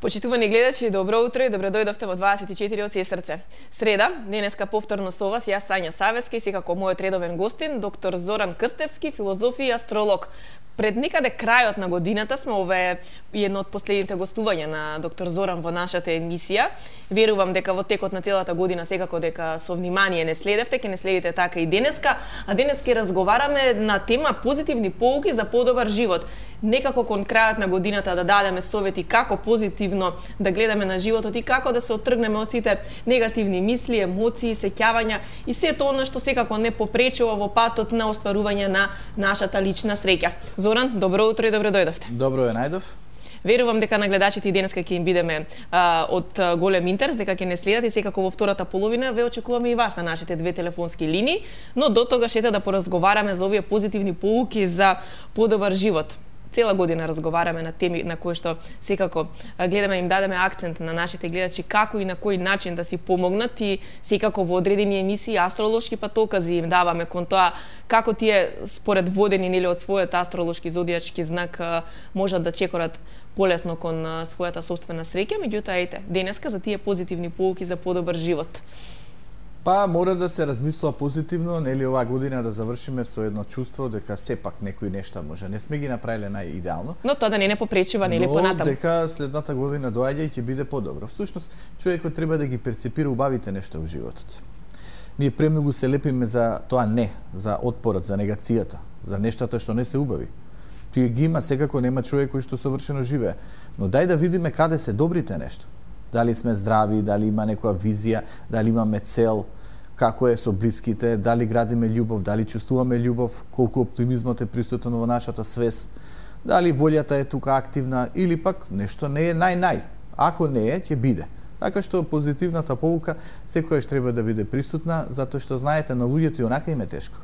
Почитувани гледачи, добро утро и добро дојдовте во 24 од сестрце. Среда, денеска повторно со вас, јас Сања Савеска и секако мојот редовен гостин, доктор Зоран Крстевски, филозоф и астролог. Пред некаде крајот на годината сме, ова е едно од последните гостувања на доктор Зоран во нашата емисија. Верувам дека во текот на целата година секако дека со внимание не следевте, ќе не следите така и денеска, а денес ќе разговараме на тема позитивни поуки за подобар живот. Некако кон крајот на годината да дадеме совети како позитивно да гледаме на животот и како да се оттргнеме од сите негативни мисли, емоции, сеќавања и сето она што секако не попречува во патот на остварување на нашата лична среќа. Зоран, добро утро и добро дојдовте. Добро е најдов. Верувам дека на гледачите и денеска ќе им бидеме од голем интерес, дека ќе не следат и секако во втората половина ве очекуваме и вас на нашите две телефонски линии, но до тогаш ете да поразговараме за овие позитивни поуки за подобар живот. Цела година разговараме на теми на кои што секако гледаме им дадеме акцент на нашите гледачи како и на кој начин да си помогнат и секако во одредени емисии астролошки патокази им даваме кон тоа како тие според водени нели од својот астролошки зодијачки знак можат да чекорат полесно кон својата сопствена среќа, меѓутоа ете денеска за тие позитивни поуки за подобар живот. Па мора да се размислува позитивно, нели оваа година да завршиме со едно чувство дека сепак некои нешта може не сме ги направиле најидеално. Но тоа да не попречува нели понатаму. Но дека следната година доаѓа и ќе биде подобро. Всушност човекот треба да ги перцепира убавите нешта во животот. Ние премногу се лепиме за тоа не, за отпорот, за негацијата, за нештата што не се убави. Тие ги има, секако нема човек кој што совршено живее. Но дај да видиме каде се добрите нешта. Дали сме здрави, дали има некоја визија, дали имаме цел, како е со блиските, дали градиме љубов, дали чувствуваме љубов, колку оптимизмот е присутен во нашата свест, дали волјата е тука активна или пак нешто не е нај-нај. Ако не е, ќе биде. Така што позитивната поука секојаш треба да биде присутна, затоа што знаете на луѓето и онака им е тешко.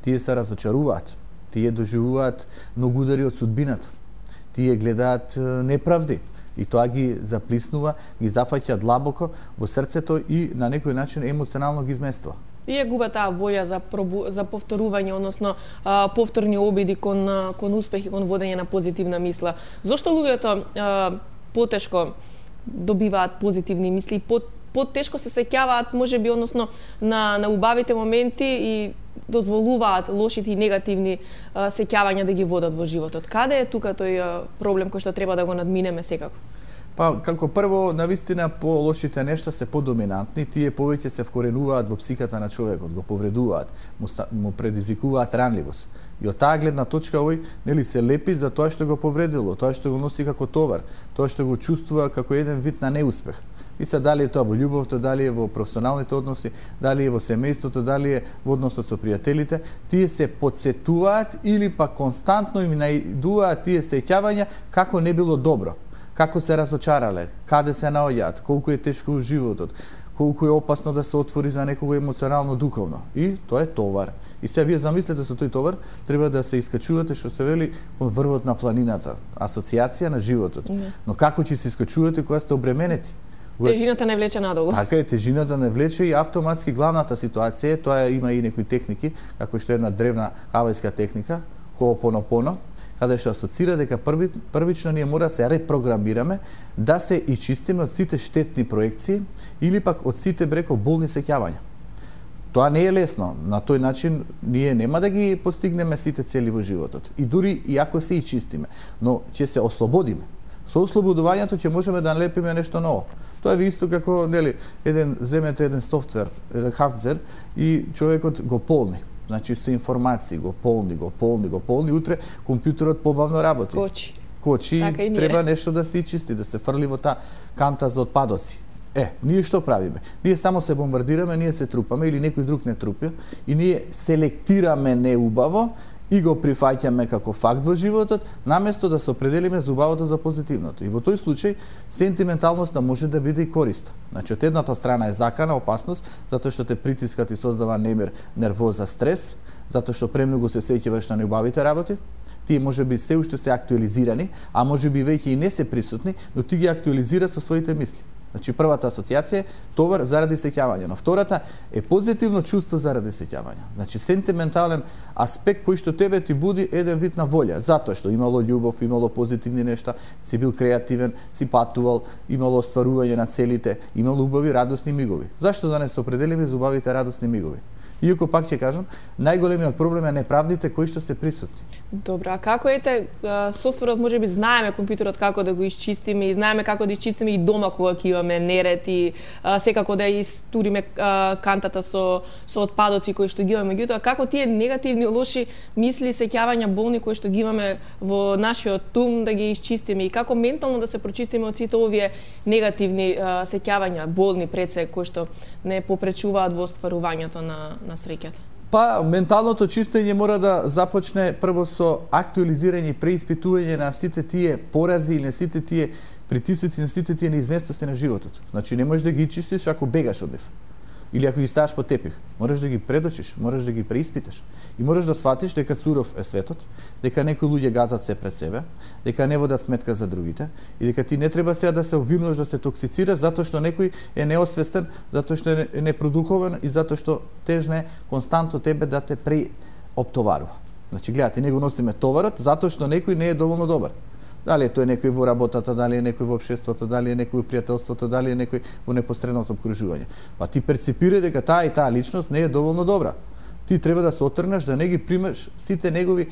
Тие се разочаруваат, тие доживуваат многу удари од судбината, тие гледаат неправди. И тоа ги заплиснува, ги зафаќа длабоко во срцето и на некој начин емоционално ги изместува. И ја губа таа воја за повторување, односно повторни обиди кон успех и кон водење на позитивна мисла. Зошто луѓето потешко добиваат позитивни мисли, потешко се сеќаваат, можеби, односно на убавите моменти и дозволуваат лошите и негативни сеќавања да ги водат во животот. Каде е тука тој проблем кој што треба да го надминеме секако? Па, како прво, навистина по-лошите нешта се подоминантни, тие повеќе се вкоренуваат во психиката на човекот, го повредуваат, му предизвикуваат ранливост. И од таа гледна точка овој нели се лепи за тоа што го повредило, тоа што го носи како товар, тоа што го чувствува како еден вид на неуспех. И се дали е тоа во љубовта, дали е во професионалните односи, дали е во семејството, дали е во односот со пријателите, тие се потсетуваат или па константно им наидуваат тие сеќавања како не било добро, како се разочарале, каде се наоѓаат, колку е тешко во животот, колку е опасно да се отвори за некого емоционално духовно. И тоа е товар. И се вие замислете со тој товар, треба да се искачувате што се вели кон врвот на планината, асоциација на животот. Но како ќе се искачувате кога сте обременети? Тежината не влече надолу. Така е, тежината не влече и автоматски главната ситуација, тоа има и некои техники, како што е една древна хавајска техника, хоопонопоно, каде што асоцира дека првично ние мора да се репрограмираме, да се и чистиме од сите штетни проекции или пак од сите бреко болни сеќавања. Тоа не е лесно, на тој начин ние нема да ги постигнеме сите цели во животот. И дури и ако се и чистиме, но ќе се ослободиме. Со ослободувањето ќе можеме да налепиме нешто ново. Тоа е исто како нели земете еден софтвер, еден хардвер и човекот го полни. Значи со информации го полни, утре компјутерот побавно работи. Кочи, така треба нешто да се чисти, да се фрли во таа канта за отпадоци. Ние што правиме? Ние само се бомбардираме, ние се трупаме или некој друг не трупи и ние селектираме неубаво и го прифаќаме како факт во животот, наместо да се определиме за убавото за позитивното. И во тој случај сентименталноста може да биде и користа. Значи од едната страна е закана, опасност, затоа што те притискат и создава немир, нервоза, стрес, затоа што премногу се сеќаваш на неубавите работи. Тие може би се уште се актуализирани, а може би веќе и не се присутни, но ти ги актуализира со своите мисли. Значи првата асоциација е товар заради сеќавање, но втората е позитивно чувство заради сеќавање. Значи сентиментален аспект кој што тебе ти буди еден вид на волја, затоа што имало љубов, имало позитивни нешта, си бил креативен, си патувал, имало остварување на целите, имало убави радосни мигови. Зашто да не се определиме за убавите радосни мигови? Иако пак ќе кажам, најголемиот проблем е неправдите кои што се присутни. Добро, а како софтверот можеби знаеме компјутерот како да го исчистиме и знаеме како да исчистиме и дома кога ќе имаме неред и секако да истуриме кантата со отпадоци кои што ги имаме, меѓутоа како тие негативни лоши мисли, сеќавања болни кои што ги имаме во нашиот ум да ги исчистиме и како ментално да се прочистиме од сите овие негативни сеќавања, болни пред се кои што не попречуваат во остварувањето на среќата? Па, менталното чистење мора да започне прво со актуализирање и преиспитување на сите тие порази или на сите тие притисоци, на сите тие неизвестности на животот. Значи, не можеш да ги чистиш ако бегаш од нив. Или ако ги ставаш по тепих. Мораш да ги предочиш, мораш да ги преиспиташ. И мораш да сватиш дека суров е светот, дека некои луѓе газат се пред себе, дека не водат сметка за другите и дека ти не треба сега да се обвинуваш да се токсицираш затоа што некој е неосвестен, затоа што е непродуховен и затоа што тежне константно тебе да те преоптоварува. Значи, гледате, не го носиме товарот затоа што некој не е доволно добар. Дали е тој некој во работата, дали е некој во општеството, дали е некој во пријателството, дали е некој во непосредното обкружување. Па ти перципира дека таа и таа личност не е доволно добра. Ти треба да се отргнеш, да не ги примеш сите негови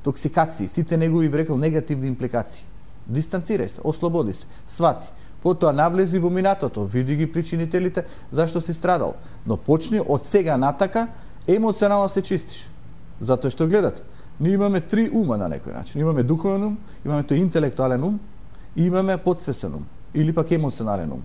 токсикации, сите негови, би рекол, негативни импликации. Дистанцирај се, ослободи се, свати. Потоа навлези во минатото, види ги причинителите зашто си страдал. Но почни од сега натака емоционално се чистиш. Затоа што гледате, ние имаме три ума на некој начин. Имаме духовен ум, имаме тој интелектуален ум и имаме подсвесен ум или пак емоционален ум.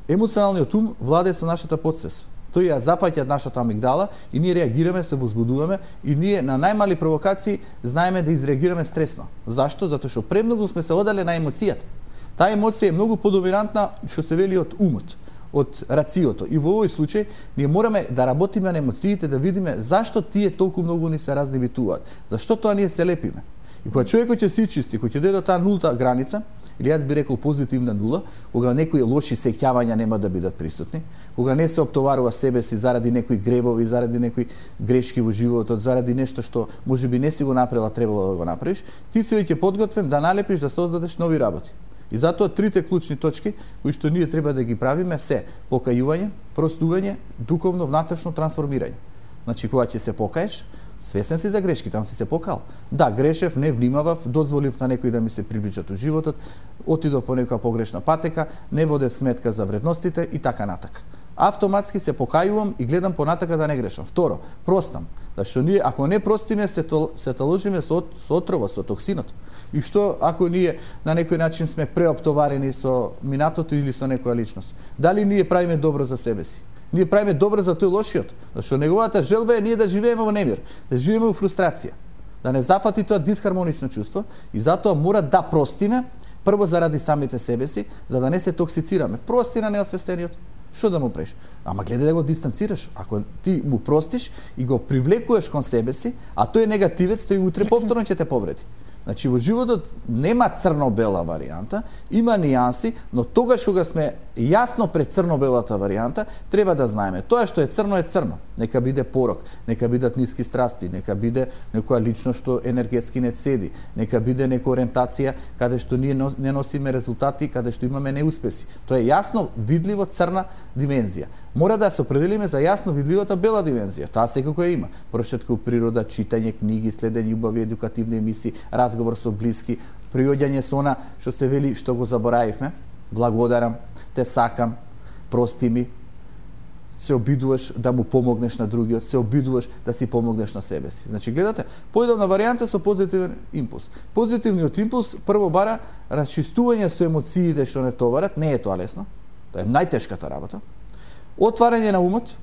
Емоционалниот ум владее со нашата подсвес. Тој ја запаќа нашата амигдала и ние реагираме, се возбудуваме и ние на најмали провокации знаеме да изреагираме стресно. Зашто? Затоа што премногу сме се одале на емоцијата. Таа емоција е многу подоминантна, што се вели од умот, од рациото. И во овој случај ние мораме да работиме на емоциите, да видиме зашто тие толку многу ни се разнебитуваат. Зашто тоа ние се лепиме. И кога човекот ќе се чисти, кога ќе дојде до таа нулта граница, или јас би рекол позитивна нула, кога некои лоши сеќавања нема да бидат присутни, кога не се оптоварува себе си заради некои гревови, заради некои грешки во животот, заради нешто што можеби не си го направила, требало да го направиш, ти си веќе подготвен да налепиш, да создадеш нови работи. И затоа трите клучни точки кои што ние треба да ги правиме се покајување, простување, духовно внатрешно трансформирање. Значи кога ќе се покаеш, свесен си за грешки, там си се покал. Да, грешев, не внимавав, дозволив на некој да ми се приближат у животот, отидов по некоја погрешна патека, не водев сметка за вредностите и така натака. Автоматски се покајувам и гледам понатака да не грешам. Второ, простам. Зашто ние, ако не простиме, се таложиме со отрова, со токсинот. И што ако ние на некој начин сме преоптоварени со минатото или со некоја личност? Дали ние правиме добро за себе си? Ние правиме добро за тој лошиот, зашто неговата желба е ние да живееме во немир, да живееме во фрустрација, да не зафати тоа дисхармонично чувство и затоа мора да простиме прво заради самите себе си, за да не се токсицираме. Прости на неосвестениот. Што да му преш? Ама гледај да го дистанцираш. Ако ти му простиш и го привлекуваш кон себе си, а тој е негативец, тој утре повторно ќе те повреди. Значи во животот нема црно-бела варијанта, има нијанси, но тогаш кога сме јасно пред црно-белата варијанта, треба да знаеме тоа што е црно. Нека биде порок, нека бидат ниски страсти, нека биде некоја личност што енергетски не цеди, нека биде некоја ориентација каде што ние не носиме резултати, каде што имаме неуспеси. Тоа е јасно видливо црна димензија. Мора да се определиме за јасно видливата бела димензија. Таа секако има. Прошетка у природа, читање книги, следење убави едукативни емисии, разговор со блиски, приоѓање со она што се вели што го заборавивме. Благодарам, те сакам, прости ми. Се обидуваш да му помогнеш на другиот, се обидуваш да си помогнеш на себе си. Значи, гледате, поедовна варијанта со позитивен импулс. Позитивниот импулс прво бара расчистување со емоциите што не товарат, не е тоа лесно. Тоа е најтешката работа. Отварање на умот,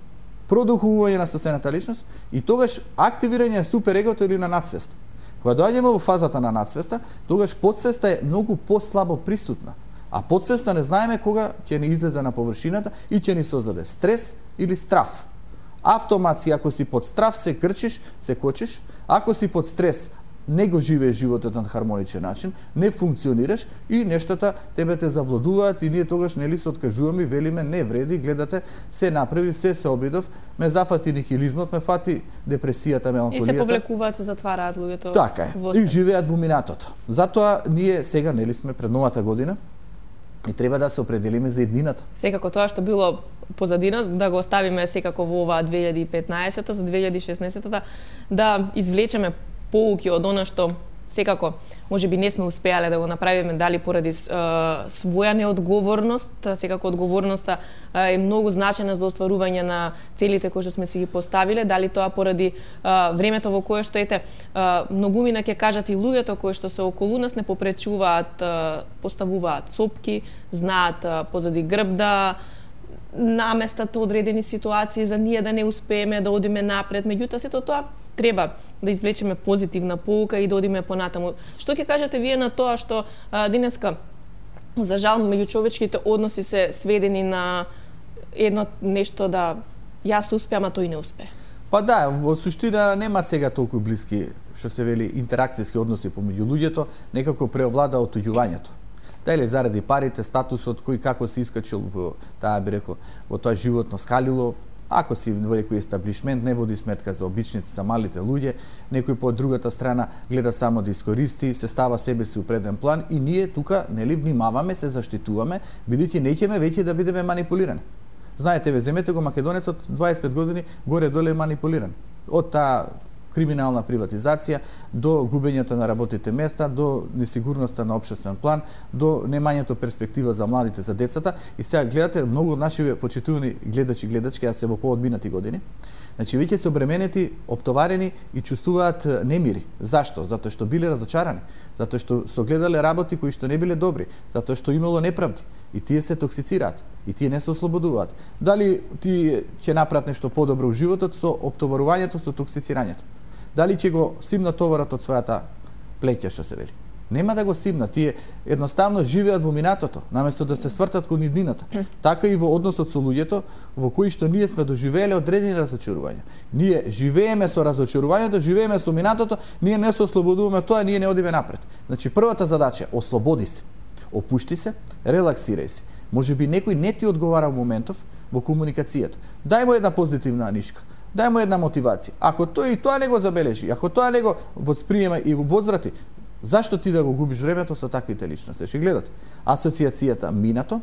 продухувување на собствената личност и тогаш активирање на суперегото или на надсвеста. Кога доаѓаме во фазата на надсвеста, тогаш подсвеста е многу послабо присутна. А подсвеста не знаеме кога ќе ни излезе на површината и ќе ни создаде стрес или страф. Автоматски, ако си под страф, се крчиш, се кочиш. Ако си под стрес, не го живееш животот на хармоничен начин, не функционираш и нештата тебе те завладуваат и ние тогаш нели се откажуваме и велиме не вреди, гледате, се направи, се обидов, ме зафати нихилизмот, ме фати депресијата, меланхолијата. И се повлекуваат, се затвараат луѓето. Така е. И живеат во минатото. Затоа ние сега нели сме пред новата година и треба да се определиме за еднината. Секако тоа што било позадина, да го оставиме секако во оваа 2015-та, за 2016-та, да извлечеме поуки од она што секако можеби не сме успеале да го направиме, дали поради своја неодговорност. Секако одговорноста е многу значена за остварување на целите кои што сме си ги поставиле, дали тоа поради времето во кое што ете многумина ќе кажат и луѓето кои што се околу нас не попречуваат, поставуваат сопки, знаат позади грб да наместат одредени ситуации за ние да не успееме да одиме напред. Меѓутоа сето тоа треба да извлечеме позитивна поука и да одиме понатаму. Што ќе кажете вие на тоа што денеска за жал меѓучовечките односи се сведени на едно нешто да јас успеам, а тој не успе? Па да, во суштина нема сега толку блиски, што се вели, интеракцијски односи помеѓу луѓето, некако преовлада отуѓувањето. Дали заради парите, статусот, кој како се искачил во таа би рекол, во тоа животно скалило, ако си во некој естаблишмент не води сметка за обичници, за малите луѓе, некој по другата страна гледа само да искористи, се става себе си у преден план и ние тука нели внимаваме, се заштитуваме, бидејќи неќеме веќе да бидеме манипулирани. Знаете, ве земете го македонецот 25 години горе-доле е манипулиран. Од таа криминална приватизација, до губењето на работните места, до несигурноста на општествен план, до немањето перспектива за младите, за децата. И сега гледате, многу од наши почитувани гледачи и гледачки, а се во поодминати години, значи веќе се обременети, оптоварени и чувствуваат немири. Зашто? Затоа што биле разочарани, затоа што со гледале работи кои што не биле добри, затоа што имало неправди. И тие се токсицираат, и тие не се ослободуваат. Дали тие ќе направат нешто подобро во животот со оптоварувањето, со токсицирањето? Дали ќе го симнат товарот од својата плеќа, што се вели? Нема да го симнат, тие едноставно живеат во минатото, наместо да се свртат кон иднината. Така и во односот со луѓето, во кои што ние сме доживееле одредени разочарувања. Ние живееме со разочарувањето, живееме со минатото, ние не се ослободуваме тоа, ние не одиме напред. Значи првата задача е ослободи се, опушти се, релаксирај се. Можеби некој не ти одговара во моментов во комуникацијата. Дај му една позитивна нишка. Дај му една мотивација. Ако тој и тоа не го забележи, ако тоа не го восприема и го возврати, зашто ти да го губиш времето со таквите личности? Ще гледате. Асоциацијата минато,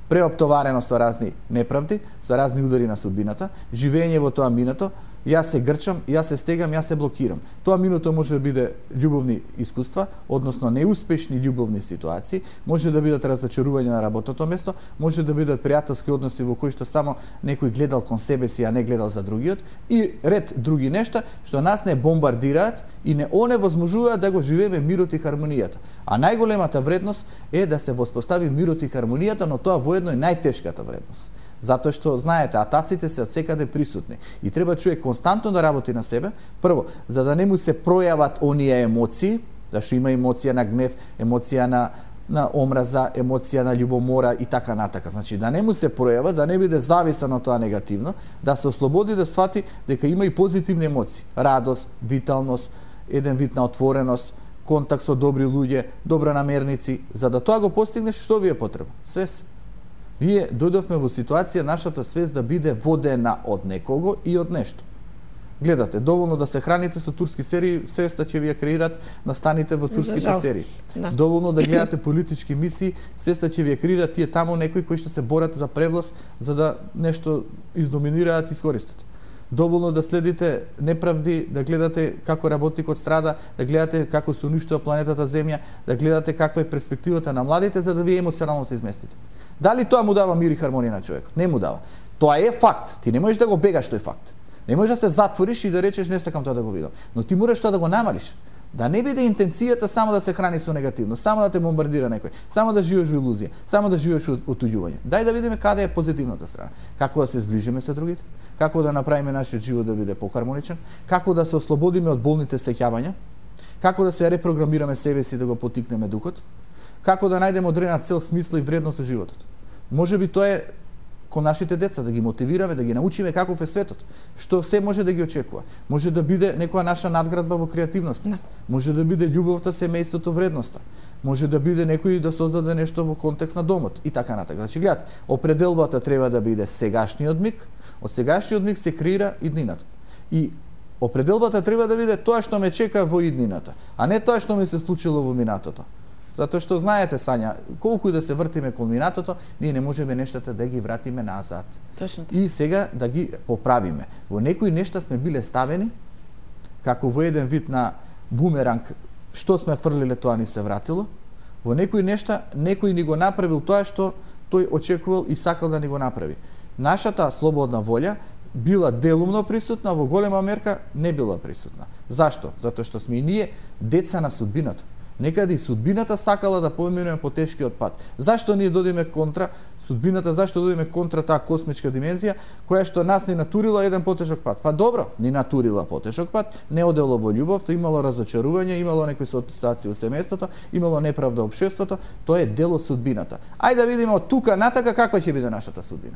преоптоварено со разни неправди, со разни удари на судбината, живење во тоа минато, јас се грчам, јас се стегам, јас се блокирам. Тоа минуто може да биде љубовни искуства, односно неуспешни љубовни ситуации, може да бидат разочарување на работното место, може да бидат пријателски односи во кои што само некој гледал кон себе си, а не гледал за другиот, и ред други нешта што нас не бомбардираат и не оневозможуваат да го живееме мирот и хармонијата. А најголемата вредност е да се воспостави мирот и хармонијата, но тоа воедно е најтешката вредност. Затоа што, знаете, атаците се од секаде присутни и треба човек константно да работи на себе, прво, за да не му се пројават оние емоции, зашто има емоција на гнев, емоција на омраза, емоција на љубомора и така натака. Значи, да не му се пројава, да не биде зависан од тоа негативно, да се ослободи, да свати дека има и позитивни емоции, радост, виталност, еден вид на отвореност, контакт со добри луѓе, добра намерници. За да тоа го постигнеш, што ви е потребно? Свест. Ние дојдовме во ситуација нашата свест да биде водена од некого и од нешто. Гледате, доволно да се храните со турски серии, свеста ќе ви ја креират настаните во турските серии. Да. Доволно да гледате политички мисии, свеста ќе ви ја креират тие таму некои кои што се борат за превласт, за да нешто издоминираат и искористат. Доволно да следите неправди, да гледате како работникот страда, да гледате како се уништува планетата Земја, да гледате каква е перспективата на младите, за да вие емоционално се изместите. Дали тоа му дава мир и хармонија на човекот? Не му дава. Тоа е факт. Ти не можеш да го бегаш тој факт. Не можеш да се затвориш и да речеш не сакам тоа да го видам. Но ти мораш тоа да го намалиш. Да не биде интенцијата само да се храни со негативно, само да те бомбардира некој, само да живееш во илузија, само да живееш во отуѓување. Дај да видиме каде е позитивната страна. Како да се зближиме со другите, како да направиме нашиот живот да биде похармоничен, како да се ослободиме од болните сеќавања, како да се репрограмираме себе си да го потикнеме духот, како да најдеме одредена цел, смисла и вредност во животот. Можеби тоа е кон нашите деца, да ги мотивираме, да ги научиме каков е светот, што се може да ги очекува. Може да биде некоја наша надградба во креативност, може да биде љубовта, семејството, вредноста, може да биде некој да создаде нешто во контекст на домот и така натака. Значи, гледате, определбата треба да биде сегашниот миг, од сегашниот миг се креира иднината. И определбата треба да биде тоа што ме чека во иднината, а не тоа што ми се случило во минатото. Затоа што знаете, Сања, колку и да се вртиме кон минатото, ние не можеме нештата да ги вратиме назад. Точно. И сега да ги поправиме. Во некои нешта сме биле ставени, како во еден вид на бумеранг, што сме фрлиле, тоа ни се вратило. Во некои нешта, некој ни го направил тоа што тој очекувал и сакал да ни го направи. Нашата слободна волја била делумно присутна, во голема мерка не била присутна. Зашто? Затоа што сме и ние деца на судбината. Некаде и судбината сакала да поминеме по тешкиот пат. Зашто ние додиме контра судбината, зашто додиме контра таа космичка димензија, која што нас ни натурила еден потешок пат? Па добро, ни натурила потешок пат, не одело во љубовта, имало разочарување, имало некои ситуации во семејството, имало неправда во општеството, тоа е дел од судбината. Ајде да видиме од тука натака каква ќе биде нашата судбина.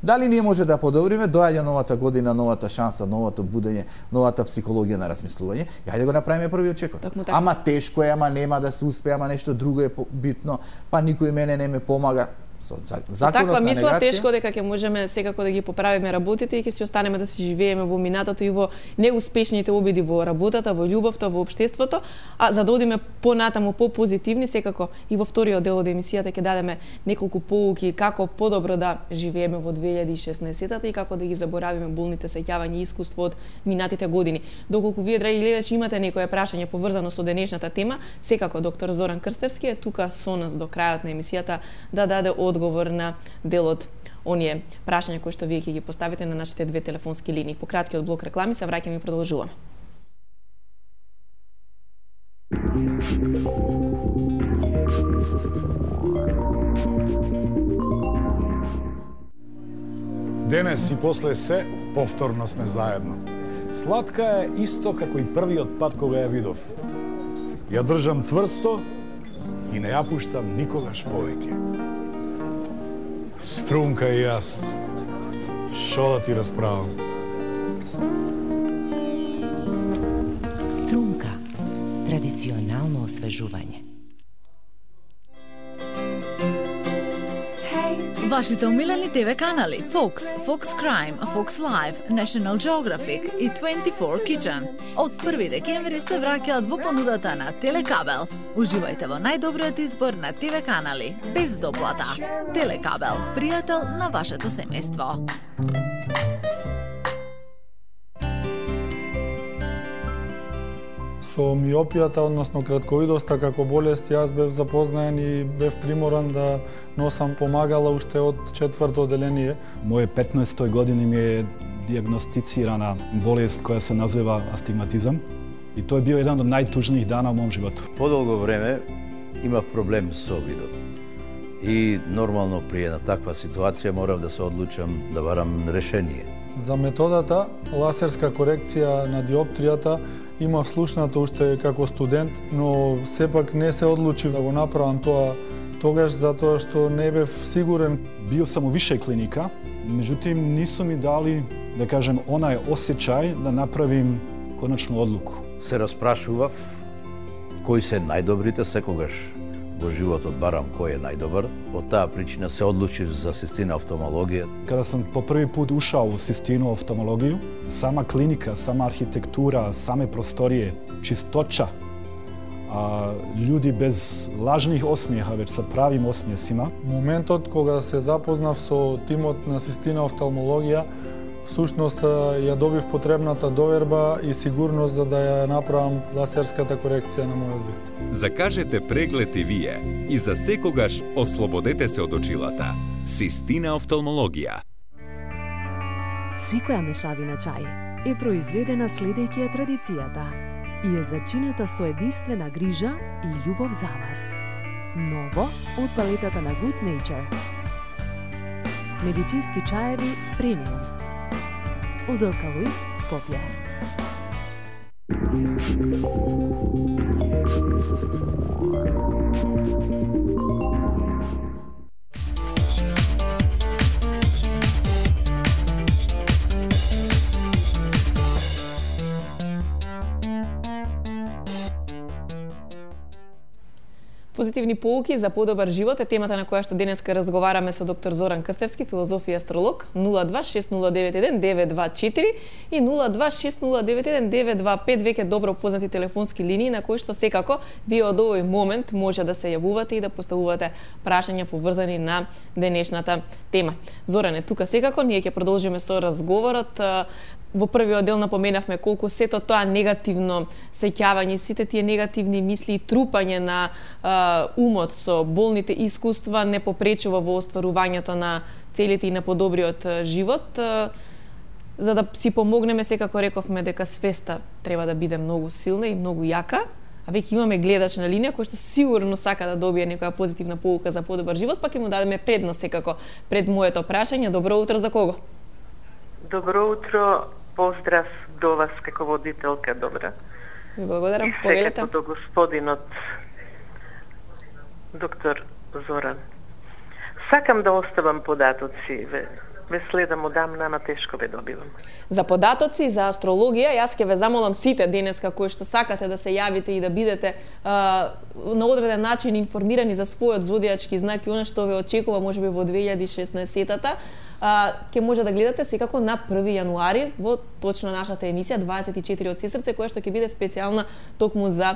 Дали ние може да подобриме, доаѓа новата година, новата шанса, новото будење, новата психологија на размислување, и ајде го направиме првиот чекор. Ама тешко е, ама нема да се успее, ама нешто друго е битно, па никој мене не ме помага. Со таква мисла тешко дека ќе можеме секако да ги поправиме работите и ќе си останеме да си живееме во минатото и во неуспешните обиди во работата, во љубовта, во општеството, а за да одиме понатаму попозитивни, секако и во вториот дел од емисијата ќе дадеме неколку поуки како подобро да живееме во 2016-та и како да ги заборавиме болните сеќавања и искуство од минатите години. Доколку вие, драги гледачи, имате некое прашање поврзано со денешната тема, секако доктор Зоран Крстевски е тука со нас до крајот на емисијата да даде одговор на дел од оние прашања кои што вие ќе ги поставите на нашите две телефонски линии. По краткиот блок реклами се враќаме и продолжуваме. Денес и после се, повторно сме заедно. Сладка е исто како и првиот пат кога ја видов. Ја држам цврсто и не ја пуштам никогаш повеќе. Струмка и јас, шо да ти расправам? Струмка, традиционално освежување. Вашите омилени ТВ канали Fox, Fox Crime, Fox Life, National Geographic и 24 Kitchen. Од 1 декември се враќаат во понудата на Телекабел. Уживајте во најдобриот избор на ТВ канали, без доплата. Телекабел, пријател на вашето семејство. Со миопијата, односно кратковидоста како болест, јас бев запознаен и бев приморан да носам помагала уште од 4-то одделение. Моје 15-тој години ми е диагностицирана болест која се назива астигматизам и тоа е био еден од најтужних дана во мојом животу. Подолго време имав проблем со видот. И нормално при една таква ситуација морав да се одлучам да барам решение. За методата лазерска корекција на диоптријата имав слушнато уште како студент, но сепак не се одлучив да го направам тоа тогаш затоа што не бев сигурен. Био сам у више клиника, меѓутим нису ми дали, да кажем, онај осеќај да направим конечну одлуку. Се распрашував кои се најдобрите, секогаш во животот барам кој е најдобар. Од таа причина се одлучив за систина офталмологија. Када сам по први пут ушал у систину офталмологију, сама клиника, сама архитектура, саме просторие, чисточа, луѓи без лажних осмеха, веќе со правим осмесима. Моментот кога се запознав со тимот на систина офталмологија, всушност ја добив потребната доверба и сигурност за да ја направам лазерската корекција на мојот вид. Закажете преглед и вие и за секогаш ослободете се од очилата. Систина офталмологија. Секоја мешавина чај е произведена следејќи ја традицијата и е зачинета со единствена грижа и љубов за вас. Ново од палетата на Good Nature. Медицински чаеви премиум. Од Алкалој, Скопје. Позитивни поуки за подобар живот е темата на која што денеска разговараме со доктор Зоран Крстевски, филозоф и астролог. 026091924 и 026091925, веќе добро познати телефонски линии на кои што секако вие од овој момент може да се јавувате и да поставувате прашања поврзани на денешната тема. Зоран е тука секако, ние ќе продолжиме со разговорот. Во првиот дел напоменавме колку сето тоа негативно сеќавање, сите тие негативни мисли и трупање на умот со болните искуства не попречува во остварувањето на целите и на подобриот живот. За да си помогнеме, секако рековме дека свеста треба да биде многу силна и многу јака, а веќе имаме гледач на линија кој што сигурно сака да добие некоја позитивна поука за подобар живот, па ќе му дадеме предност секако пред моето прашање. Добро утро за кого? Добро утро, поздрав до вас како водителка, добра. Ви благодарам. И секако до господинот доктор Зоран. Сакам да оставам податоци, ве следам одамна, ама тешко ве добивам. За податоци и за астрологија, јас ќе ве замолам сите денеска кои што сакате да се јавите и да бидете на одреден начин информирани за својот зодијачки знак и она што ве очекува можеби во 2016-та, ќе може да гледате секако на 1 јануари во точно нашата емисија 24 од Сесрце, која што ќе биде специјална токму за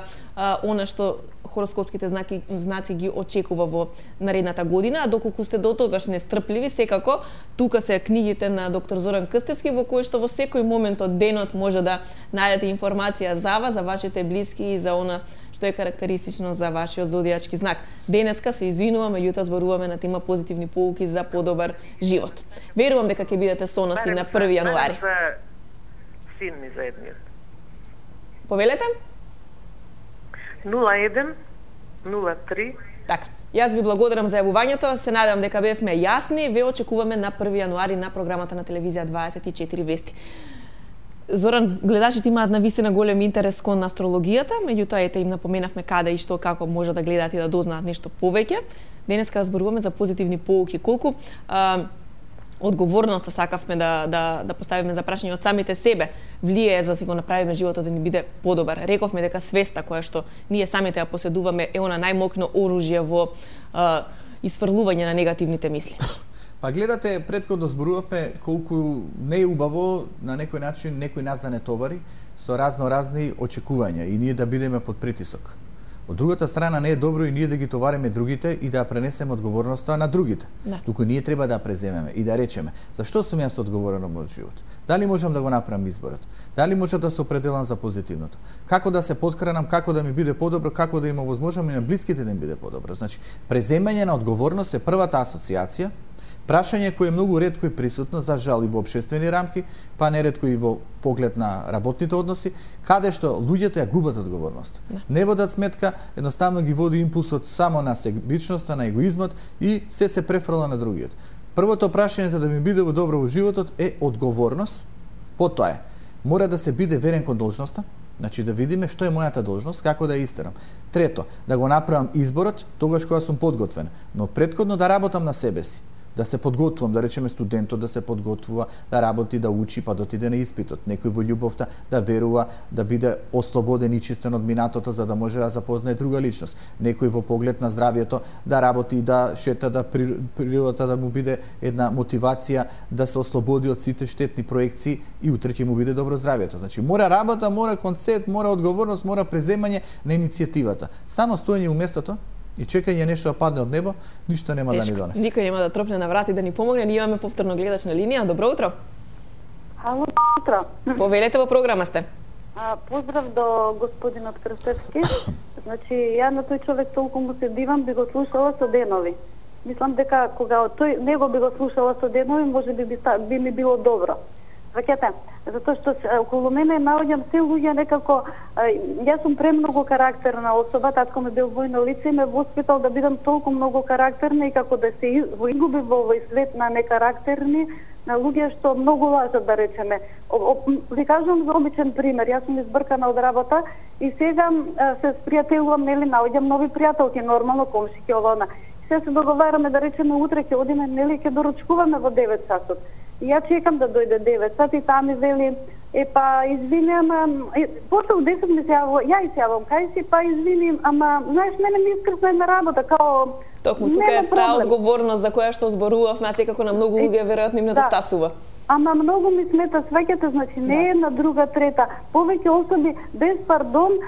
она што хороскопските знаци ги очекува во наредната година. А доколку сте до тогаш нестрпливи, секако тука се книгите на доктор Зоран Крстевски, во кои што во секој момент од денот може да најдете информација за вас, за вашите блиски и за она што е карактеристично за вашиот зодијачки знак. Денеска се извинуваме, јутра зборуваме на тема позитивни поуки за подобар живот. Верувам дека ќе бидете со нас и на 1 јануари. Син ми за едниот. Повелете? 01 03. Така. Јас ви благодарам за јавувањето, се надевам дека бевме јасни, ве очекуваме на 1 јануари на програмата на телевизија 24 вести. Зоран, гледачите имаат навистина голем интерес кон астрологијата, меѓутоа ете им напоменавме каде и што како може да гледаат и да дознаат нешто повеќе. Денеска зборуваме за позитивни поуки. Колку одговорноста сакавме да поставиме за прашање од самите себе влијае за да си го направиме животот да ни биде подобар. Рековме дека свеста која што ние самите ја поседуваме е она најмокно оружје во исфрлување на негативните мисли. Па гледате, претходно зборувавме колку не е убаво на некој начин некој нас да не товари со разни очекувања и ние да бидеме под притисок. Од другата страна не е добро и ние да ги товариме другите и да пренесеме одговорноста на другите. Туку ние треба да преземеме и да речеме зашто сум јас одговорен во мојот живот? Дали можам да го направам изборот? Дали можам да се определам за позитивното? Како да се поткранам, како да ми биде подобро, како да има возможност и на блиските да им биде подобро? Значи, преземање на одговорност е првата асоциација. Прашање кој е многу ретко и присутно, за жал и во општествени рамки, па неретко и во поглед на работните односи, каде што луѓето ја губат одговорност. Не водат сметка, едноставно ги води импулсот само на себичноста, на егоизмот и се префрла на другиот. Првото прашање за да ми биде во добро во животот е одговорност, потоа е, мора да се биде верен кон должноста, значи да видиме што е мојата должност, како да ја истерам. Трето, да го направам изборот тогаш кога сум подготвен, но претходно да работам на себе си. Да се подготвувам, да речеме студентот да се подготвува, да работи, да учи, па да отиде на испитот. Некој во љубовта да верува, да биде ослободен и чистен од минатото за да може да запознае друга личност. Некој во поглед на здравието да работи, да шета, да природата да му биде една мотивација да се ослободи од сите штетни проекции и утре ќе му биде добро здравието. Значи мора работа, мора концепт, мора одговорност, мора преземање на иницијативата. Само стоење у местото и чекање нешто да падне од небо, ништо нема да ни донесе. Никој нема да тропне на врат и да ни помогне. Ние имаме повторно гледач на линија. Добро утро. Ало, утро. Повелете, во програма сте. Поздрав до господинот Крстевски. Значи, ја на тој човек толку му се дивам, би го слушала со денови. Мислам дека кога тој него би го слушала со денови, може би ми било добро. Ваќате, затоа што околу мене наоѓам се луѓе некако, јас сум премногу карактерна особа, татко ме бил војно лице и ме воспитал да бидам толку многу карактерна и како да се изгуби во овој свет на некарактерни, на луѓе што многу лажат, да речеме. Ви кажувам за обичен пример, јас сум избркана од работа и сега се спријателувам, нели, наоѓам нови пријателки, нормално, комшики, ова, она. Сега се договараме, да речеме, утре ќе одиме, нели, ќе доручкуваме во 9 часот. И ја чекам да дојде 9 сати, таа ми вели, Па извини, ама после од 10 ми се јавам, ја и се јавам кај си, па извини, ама знаеш, мене ми искрсна една работа, као Токму тука е таа одговорност за која што зборувавме, а секако на многу луѓе веројатно им недостасува. Ама многу ми смета, сваќате, значи не е една, друга, трета. Повеќе особи без пардон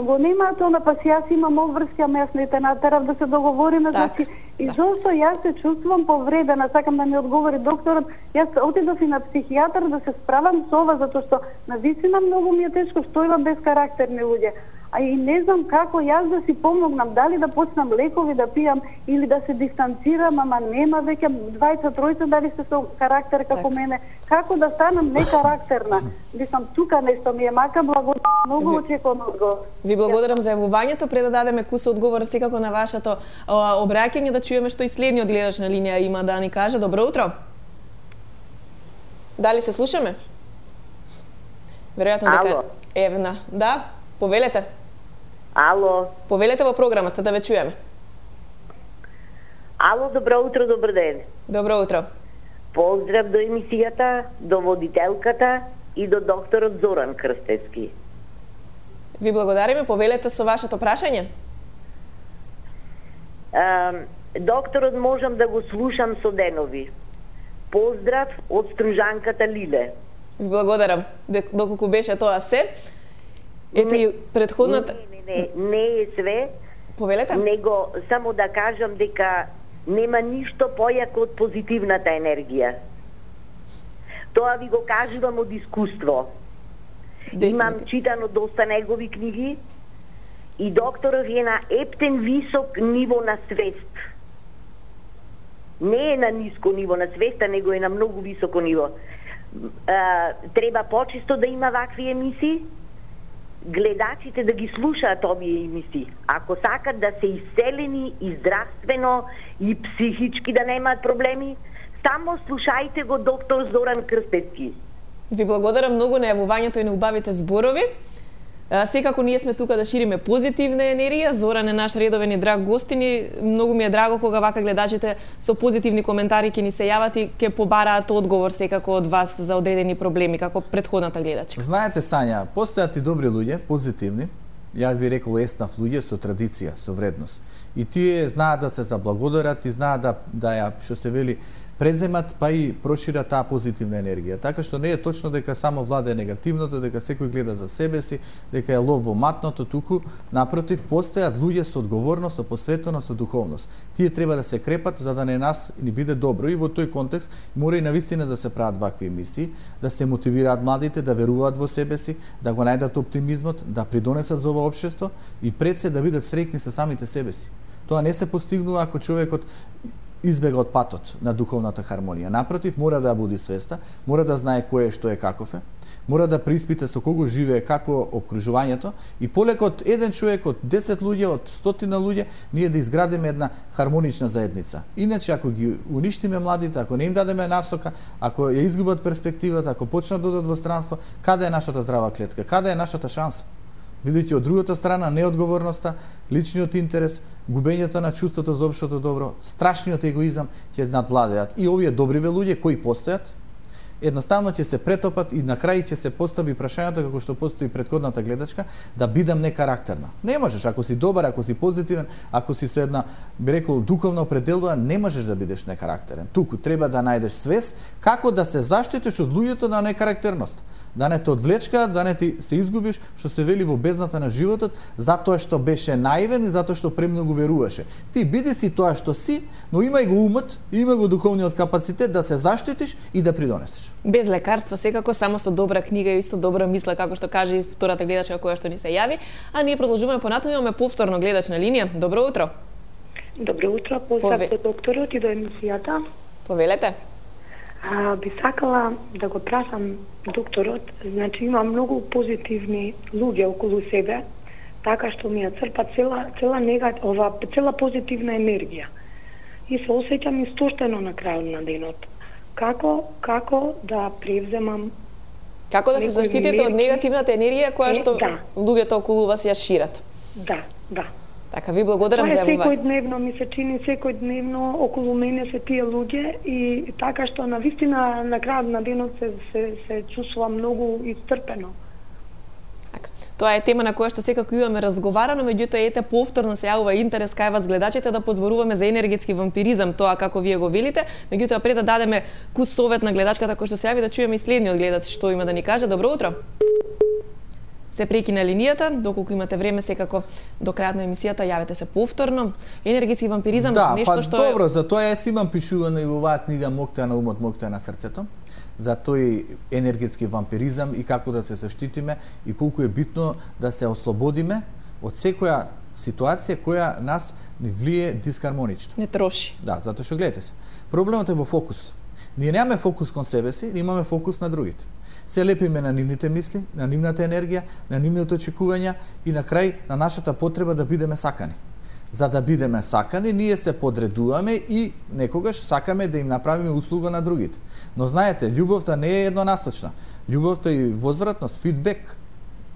го немаат она, па си јас имам обврски, ама јас не те натерав да се договориме, значи и зошто јас се чувствувам повредена, сакам да ми одговори докторот. Јас отидов и на психијатар да се справам со ова, затоа што навистина многу ми е тешко што има безкарактерни луѓе. А и не знам како јас да си помогнам, дали да почнам лекови да пијам или да се дистанцирам, ама нема веќе двајца, тројца дали сте со карактер како мене. Како да станам некарактерна? Мислам, тука нешто ми е мака, благодарам, многу очекувам одговор. Ви благодарам за јавувањето, пред да дадеме куса одговор секако на вашето обраќање, да чуеме што и следниот гледач на линија има да ни каже. Добро утро. Дали се слушаме? Веројатно дека Евна. Да, повелете. Ало. Повелете во програма, сте да ве чуеме. Ало, добро утро, добар ден. Добро утро. Поздрав до емисијата, до водителката и до докторот Зоран Крстевски. Ви благодариме, повелете со вашето прашање. Докторот можам да го слушам со денови. Поздрав од стружанката Лиле. Ви благодарам. Доколку беше тоа се, ето и предходната... Не е све. Повелете? Него само да кажам дека нема ништо појако од позитивната енергија. Тоа ви го кажувам од искуство. Имам читано доста негови книги и докторов е на ептен висок ниво на свест. Не е на ниско ниво на свеста, него е на многу високо ниво. Треба почесто да има вакви емисии, гледачите да ги слушаат овие емисии. Ако сакат да се исцелени и здравствено и психички да немаат проблеми, само слушајте го доктор Зоран Крстевски. Ви благодарам многу на јавувањето и на убавите зборови. Секако ние сме тука да шириме позитивна енергија. Зоран е наш редовен и драг гостин и многу ми е драго кога вака гледачите со позитивни коментари ќе ни се јават и ќе побараат одговор секако од вас за одредени проблеми, како претходната гледачка. Знаете, Сања, постојат и добри луѓе, позитивни. Јас би рекол еснав луѓе со традиција, со вредност. И тие знаат да се заблагодарат и знаат да ја, што се вели, преземат, па и прошират таа позитивна енергија. Така што не е точно дека само владае негативното, дека секој гледа за себе си, дека е лов во матното, туку напротив постојат луѓе со одговорност, со посветеност, со духовност. Тие треба да се крепат за да не нас ни биде добро и во тој контекст мора и навистина да се прават вакви емисии, да се мотивираат младите да веруваат во себе си, да го најдат оптимизмот, да придонесат за ова општество и пред се да бидат среќни со самите себе си. Тоа не се постигнува ако човекот избега од патот на духовната хармонија. Напротив, мора да буди свеста, мора да знае кој е, што е, каков е, мора да преиспита со кого живее, какво обкружувањето и полека од еден човек, од 10 луѓе, од 100 луѓе, ние да изградиме една хармонична заедница. Иначе, ако ги уништиме младите, ако не им дадеме насока, ако ја изгубат перспективата, ако почнат да одат во странство, каде е нашата здрава клетка, каде е нашата шанса? Бидејќи од другата страна неодговорноста, личниот интерес, губењето на чувството за општото добро, страшниот егоизам ќе надвладеат. И овие добриве луѓе кои постојат, едноставно ќе се претопат и на крај ќе се постави прашањето како што постои претходната гледачка, да бидам некарактерна. Не можеш, ако си добар, ако си позитивен, ако си со една, би рекол, духовна определба, не можеш да бидеш некарактерен. Туку треба да најдеш свест како да се заштитиш од луѓето на некарактерност. Да не те одвлечка, да не ти се изгубиш, што се вели во бездната на животот, затоа што беше наивен и затоа што премногу веруваше. Ти биди си тоа што си, но имај го умот, имај го духовниот капацитет да се заштитиш и да придонесеш. Без лекарство, секако само со добра книга и исто добра мисла, како што каже и втората гледачка која што ни се јави, а ние продолжуваме понатаму, имаме повторно гледач на линија. Добро утро. Добро утро, поздрав до докторот и до емисијата. Повелете. Би сакала да го прашам докторот, значи има многу позитивни луѓе околу себе, така што ми ја црпат цела позитивна енергија. И се осеќам истоштено на крајот на денот. Како да превземам... Како да се заштитите од негативната енергија која што луѓето околу вас ја шират? Да. Така, ви благодарам за јавување. Секојдневно ми се чини, секојдневно околу мене се тие луѓе и така што на вистина на крајот на денот се чувствувам многу истрпено. Тоа е тема на која што секако имаме разговарано, меѓутоа ете повторно се јавува интерес кај вас гледачите да позборуваме за енергетски вампиризам, тоа како вие го велите. Меѓутоа пред да дадеме кус совет на гледачката која што се јави, да чуеме и следниот гледач што има да ни каже. Добро утро. Се прекина линијата, доколку имате време секако до крајот на емисијата јавете се повторно. Енергетски вампиризам нешто што добро, затоа јас имам пишувано и во оваа книга Моќта на умот, моќта на срцето. За тој енергетски вампиризам и како да се заштитиме и колку е битно да се ослободиме од секоја ситуација која нас ни влие дисхармонично. Не троши. Да, затоа што гледате се. Проблемот е во фокус. Ние немаме фокус кон себе си, имаме фокус на другите. Се лепиме на нивните мисли, на нивната енергија, на нивните очекувања и на крај на нашата потреба да бидеме сакани. За да бидеме сакани, ние се подредуваме и некогаш сакаме да им направиме услуга на другите. Но знаете, љубовта не е еднонасочна. Љубовта е возвратност, фидбек,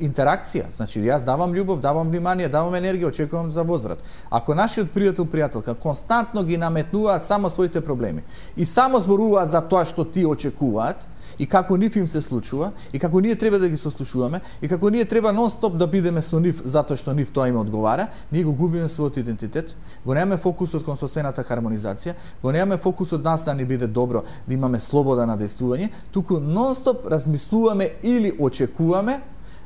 интеракција. Значи, јас давам љубов, давам внимание, давам енергија, очекувам за возврат. Ако нашиот пријател, константно ги наметнуваат само своите проблеми и само зборуваат за тоа што ти очекуваат, и како нив им се случува, и како ние треба да ги сослушуваме, и како ние треба нон-стоп да бидеме со нив затоа што нив тоа им одговара, ние го губиме својот идентитет, го немаме фокусот кон соседната хармонизација, го немаме фокусот нас да ни биде добро, да имаме слобода на действување, туку нон-стоп размислуваме или очекуваме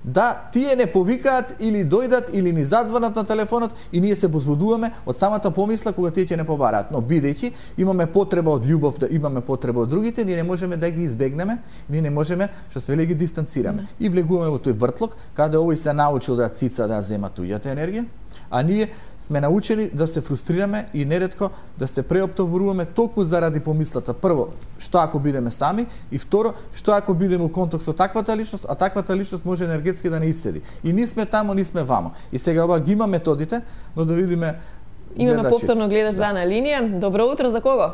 да тие не повикаат или дојдат или ни задзвонат на телефонот и ние се возбудуваме од самата помисла кога тие ќе не побараат. Но бидејќи имаме потреба од љубов, да имаме потреба од другите, ние не можеме да ги избегнеме, ние не можеме, што се вели, ги дистанцираме. И влегуваме во тој вртлок, каде овој се научил да цица да зема туѓата енергија, а ние сме научени да се фрустрираме и неретко да се преоптоваруваме токму заради помислата. Прво, што ако бидеме сами, и второ, што ако бидеме во контакт со таквата личност, а таквата личност може енергетски да не исцеди. И ни сме тамо, ни сме вамо. И сега ова ги има методите, но да видиме Имаме повторно гледач на линија. Добро утро, за кого?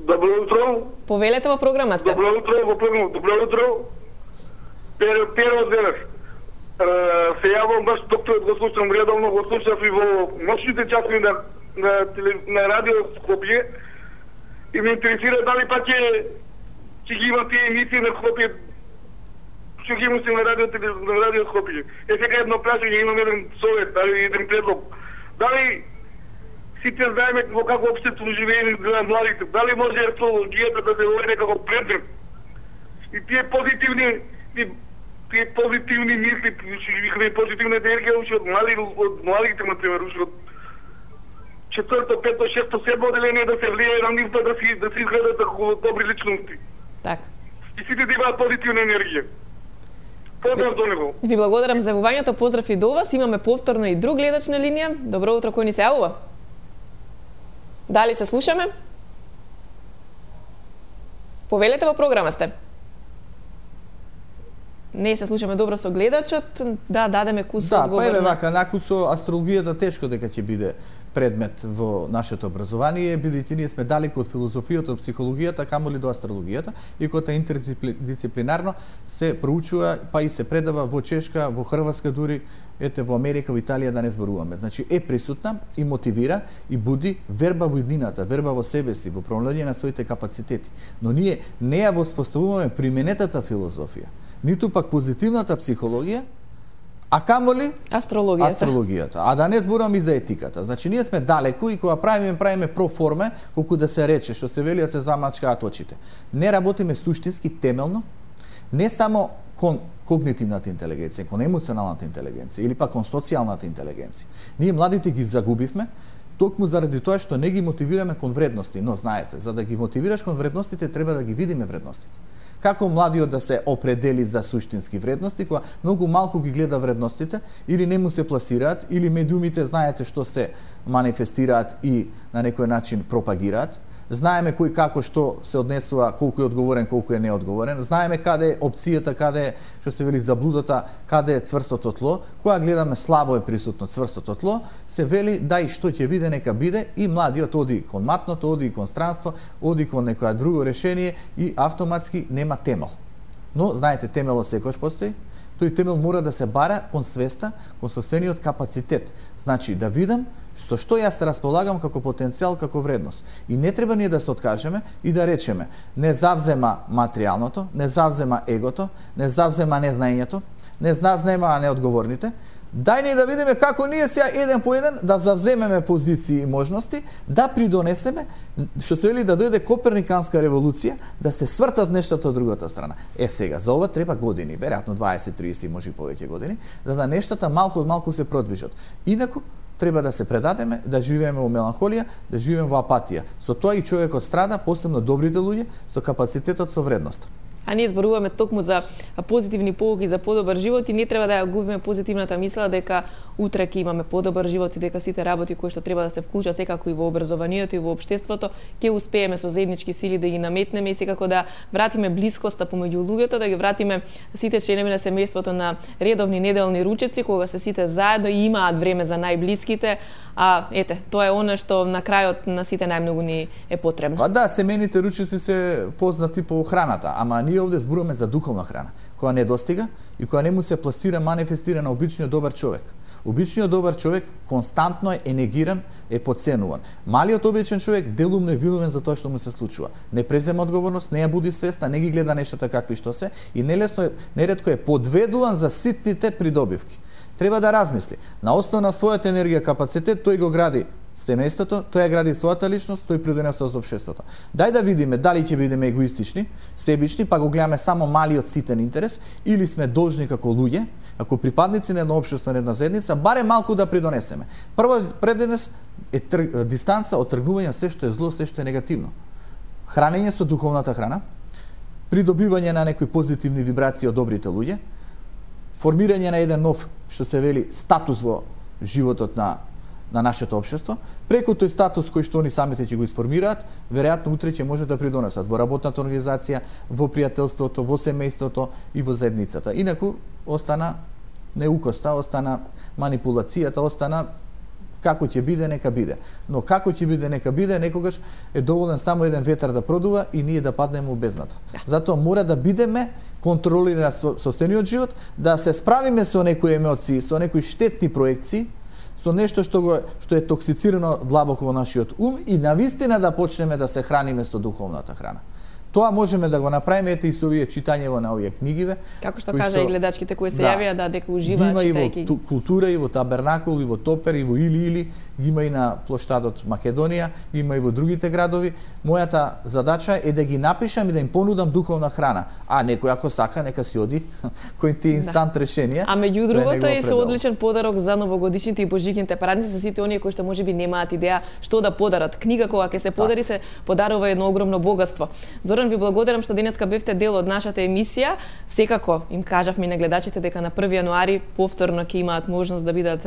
Добро утро. Повелете во програма сте. Добро утро, во програма. Добро утро. Перо денес. Се јавам баш докторот, го слушам редовно, го слушав и во ночните часови на радио Скопје и ме интересира дали пак ќе ги има тие емисии на Скопје, што ги има на радио Скопје. Сега едно прашање, имам еден совет, еден предлог. Дали сите знаеме во какво општество живееме на младите, дали може астрологијата да се води како предмет и тие позитивни мисли, позитивна енергија уште од младите, например, уште од 4-то, 5-то, 6-то, 7-то оделение да се влијае на нив да се изгледат како добри личности. Така. И сите да имаат позитивна енергија. Поздрав до него. Ви благодарам за јавувањето, поздрав и до вас. Имаме повторно и друг гледач на линија. Добро утро, кој ни се јавува? Дали се слушаме? Повелете, во програма сте. Не се слушаме добро со гледачот, да дадеме кус одговор. Да, па еве вака, наку со астрологијата тешко дека ќе биде предмет во нашето образование, бидејќи ние сме далеко од филозофијата, од психологијата, камоли до астрологијата, и која интердисциплинарно се проучува, па и се предава во Чешка, во Хрватска дури, ете во Америка, во Италија да не зборуваме. Значи е присутна и мотивира и буди верба во иднината, верба во себе си, во промножување на своите капацитети. Но ние не ја воспоставуваме применетата филозофија, ниту пак позитивната психологија, а камоли астрологијата. А да не зборувам и за етиката. Значи ние сме далеку и кога правиме проформе, колку да се рече, што се вели да се замачкаат очите. Не работиме суштински, темелно, не само кон когнитивната интелигенција, кон емоционалната интелигенција или пак кон социјалната интелигенција. Ние младите ги загубивме токму заради тоа што не ги мотивираме кон вредности, но знаете, за да ги мотивираш кон вредностите треба да ги видиме вредностите. Како младиот да се определи за суштински вредности, кога многу малку ги гледа вредностите, или не му се пласираат, или медиумите знаете што се манифестираат и на некој начин пропагираат. Знаеме кој како што се однесува, колку е одговорен, колку е неодговорен. Знаеме каде е опцијата, каде е, што се вели, заблудата, каде е цврстото тло. Кога гледаме слабо е присутно цврстото тло, се вели дај што ќе биде, нека биде, и младиот оди кон матното, оди кон странство, оди кон некоја друго решение и автоматски нема темел. Но, знаете, темелот секојаш постои, тој темел мора да се бара кон свеста, кон собствениот капацитет. Значи, да видам со што јас располагам како потенцијал, како вредност. И не треба ние да се откажеме и да речеме, не завзема материјалното, не завзема егото, не завзема незнаењето, не завзема неодговорните. Дај ни да видиме како ние сега еден по еден да завземеме позиции и можности, да придонесеме, што се вели да дојде Коперниканска револуција, да се свртат нештата од другата страна. Сега, за ова треба години, веројатно 20-30, може и повеќе години, да нештата малку од малку се продвижат. Инаку, треба да се предадеме, да живееме во меланхолија, да живееме во апатија. Со тоа и човекот страда, посебно добрите луѓе, со капацитетот, со вредност. А ние зборуваме токму за позитивни поуки за подобар живот и не треба да ја губиме позитивната мисла дека утре ќе имаме подобар живот и дека сите работи кои што треба да се вклучат секако и во образованието и во општеството ќе успееме со заеднички сили да ги наметнеме и секако да вратиме блискоста помеѓу луѓето, да ги вратиме сите членови на семејството на редовни неделни ручеци кога се сите заедно и имаат време за најблиските. А ете, тоа е она што на крајот на сите најмногу ни е потребно. Па да, семејните ручеци се познати по храната, ама ние овде зборуваме за духовна храна, која не достига и која не му се пласира, манифестира на обичниот добар човек. Обичниот добар човек константно е енергиран, е подценуван. Малиот обичен човек делумно е виновен за тоа што му се случува. Не презема одговорност, не ја буди свеста, не ги гледа нештата какви што се и неретко е подведуван за ситните придобивки. Треба да размисли. На основа на својата енергија, капацитет, тој го гради семејството, тој ја гради својата личност, тој придонесува за општеството. Дај да видиме дали ќе бидеме егоистични, себични, па го гледаме само малиот ситен интерес, или сме должни како луѓе, како припадници на едно општество, на една заедница, баре малку да придонесеме. Прво преденес е дистанца од тргнување се што е зло, се што е негативно. Хранење со духовната храна, придобивање на некои позитивни вибрации од добрите луѓе, формирање на еден нов, што се вели, статус во животот на нашето општество, преку тој статус кој што они самите ќе го изформираат, веројатно утре ќе може да придонесат во работната организација, во пријателството, во семејството и во заедницата. Инаку остана неукоста, остана манипулацијата, остана како ќе биде, нека биде. Но како ќе биде, нека биде, некогаш е доволен само еден ветар да продува и ние да паднеме во бездната. Затоа мора да бидеме контролирани собствениот живот, да се справиме со некои емоции, со некои штетни проекции, со нешто што е токсицирано длабоко во нашиот ум и навистина да почнеме да се храниме со духовната храна. Тоа можеме да го направиме ете и со овие читањево на овие книгиве. Како што кажа и гледачките кои се јавија дека уживаат читајќи. Има и во култура, и во Табернакул, и во Топер, и во Или, има и на плоштадот Македонија, има и во другите градови. Мојата задача е да ги напишам и да им понудам духовна храна. А некој ако сака, нека си оди кој ти инстант решенија. А меѓу другото е со одличен подарок за новогодишните и божигните празници за сите оние кои што можеби немаат идеја што да подарат. Книга кога ќе се подари се подарува едно огромно богатство. Зоран, ви благодарам што денеска бевте дел од нашата емисија. Секако им кажавме на гледачите дека на 1 јануари повторно ќе имаат можност да бидат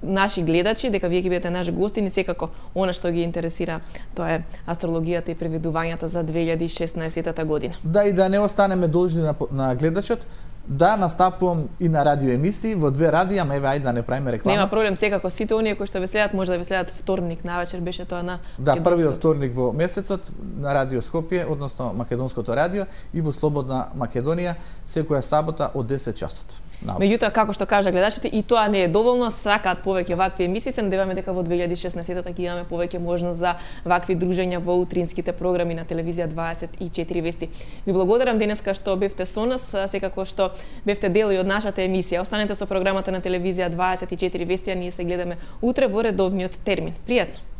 наши гледачи, дека вие ќе бидете наши гостини, секако она што ги интересира, тоа е астрологијата и преведувањата за 2016 година. Да, и да не останеме должни на гледачот, да настапувам и на радиоемисии во 2 радија, ама еве ајде да не правиме реклама. Нема проблем, секако сите оние кои што ве следат може да ве следат вторник навечер, беше тоа на да, првиот вторник во месецот на Радио Скопје, односно Македонското радио и во Слободна Македонија секоја сабота од 10 часот. Меѓутоа, како што кажа гледачите, и тоа не е доволно, сакаат повеќе вакви емисии, се надеваме дека во 2016 ќе имаме повеќе можност за вакви дружења во утринските програми на телевизија 24 вести. Ви благодарам денеска што бевте со нас, секако што бевте дел и од нашата емисија. Останете со програмата на телевизија 24 вести, а ние се гледаме утре во редовниот термин. Пријатно!